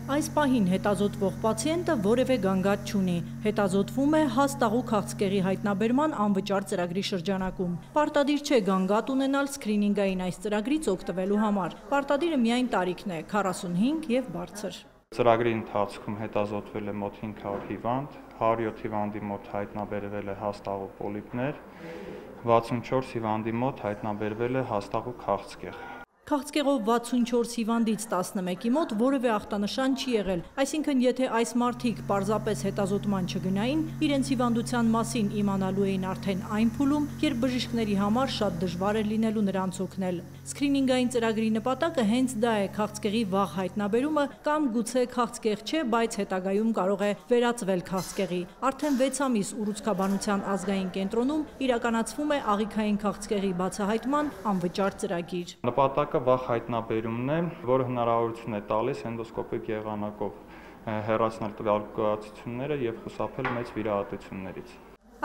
Այս պահին հետազոտվող պացիենտը որևէ գանգատ չունի, հետազոտվում է հաստաղու քաղցկեղի հայտնաբերման անվճար ծրագրի շրջանակում։ Պարտադիր չէ գանգատ ունենալ սկրինինգային այս ծրագրից օգտվելու համար։ Պարտադիրը միայն տարիքն է՝ 45 եւ բարձր։ Ծրագրի ընթացքում հետազոտվել է մոտ 500 հիվանդ, 107 հիվանդի մոտ հայտնաբերվել է հաստաղու պոլիպներ, 64 հիվանդի մոտ հայտնաբերվել է հաստաղու քաղցկեղ։ Քաղցկեղով 64 հիվանդից 11-ի մոտ որևէ ախտանշան չի եղել, այսինքն եթե այս մարդիկ պարզապես հետազոտման չգնային, իրենց հիվանդության մասին իմանալու էին արդեն այն փուլում, երբ բժիշկների համար շատ դժվար էր լինելու նրանց օգնել։ Սկրինինգային ծրագրի նպատակը հենց դա է՝ քաղցկեղի վաղ հայտնաբերումը կամ գուցե քաղցկեղ չէ, բայց հետագայում կարող է վերածվել քաղցկեղի։ Արդեն 6 ամիս ուռուցքաբանության ազգային կենտրոնում իրականացվում է աղիքային քաղցկեղի բացահայտման անվճար ծրագիր։ Նպատակը վաղ հայտնաբերումն է, որը հնարավորություն է տալիս էնդոսկոպիկ եղանակով հեռացնել տվյալ գոյացությունները եւ խուսափել մեծ վիրահատություններից։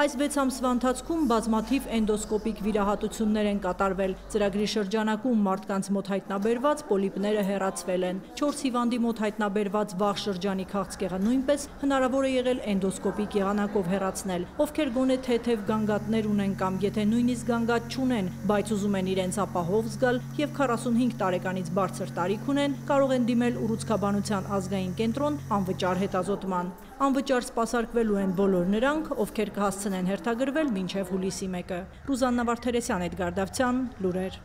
Այս 6 ամսվա ընթացքում բազմաթիվ էնդոսկոպիկ վիրահատություններ են կատարվել։ Ծրագրի շրջանակում մարդկանց մոտ հայտնաբերված պոլիպները հեռացվել են։ 4 հիվանդի մոտ հայտնաբերված վաղ շրջանի քաղցկեղը նույնպես հնարավոր է եղել էնդոսկոպիկ եղանակով հեռացնել։ Ովքեր գոնե թեթև գանգատներ ունեն կամ եթե նույնիսկ գանգատ չունեն, բայց ուզում են իրենց ապահով զգալ եւ 45 տարեկանից բարձր տարիք ունեն, կարող են դիմել ուռուցքաբանության ազգային կենտրոն անվճար հետազոտման։ Անվճար սպասարկվելու են բոլոր նրանք, ովքեր կհասցնեն հերթագրվել մինչև հուլիսի 1-ը։ Ռուզաննա Վարդերեսյան, Էդգար Դավթյան, լուրեր։